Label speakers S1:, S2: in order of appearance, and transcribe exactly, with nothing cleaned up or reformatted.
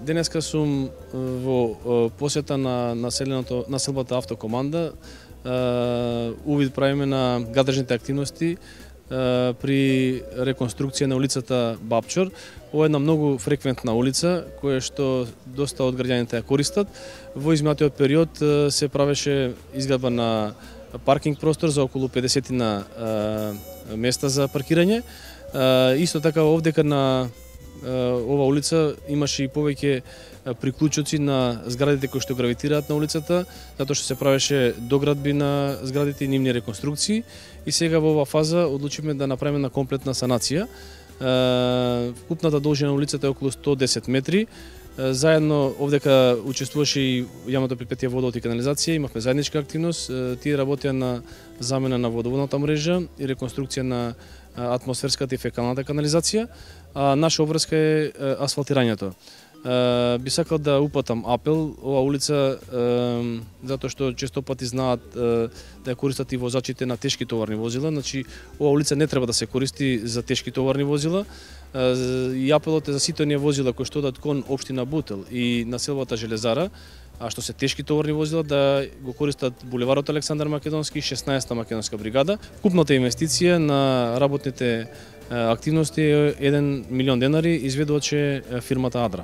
S1: денеска сум во посета на населеното населбата автокоманда. Увид правиме на гадажните активности при реконструкција на улицата Бапчор. Ова е една многу фреквентна улица која што доста од граѓаните ја користат. Во изминатиот период се правеше изградба на паркинг простор за околу педесет на места за паркирање. Исто така овдека на ова улица имаше и повеќе приклучоци на зградите кои што гравитираат на улицата, затоа што се правеше доградби на зградите и нивни реконструкции, и сега во оваа фаза одлучивме да направиме на комплетна санација. Купната должина на улицата е околу сто и десет метри. Заедно овдека учествуваше и јавното предпријатие водовод и канализација, имавме заедничка активност. Тие работеа на замена на водоводната мрежа и реконструкција на атмосферската и фекалната канализација, а наша обврска е асфалтирањето. Би сакал да упатам апел, ова улица, затоа што често пати знаат да ја користат и возачите на тешки товарни возила, значи ова улица не треба да се користи за тешки товарни возила, и апелот е за сите оние возила кои што одат кон општина Бутел и населбата Железара, а што се тешки товарни возила, да го користат булеварот Александар Македонски, шеснаесетта македонска бригада. Купната инвестиција на работните активности е еден милион денари, изведуваче фирмата Адра.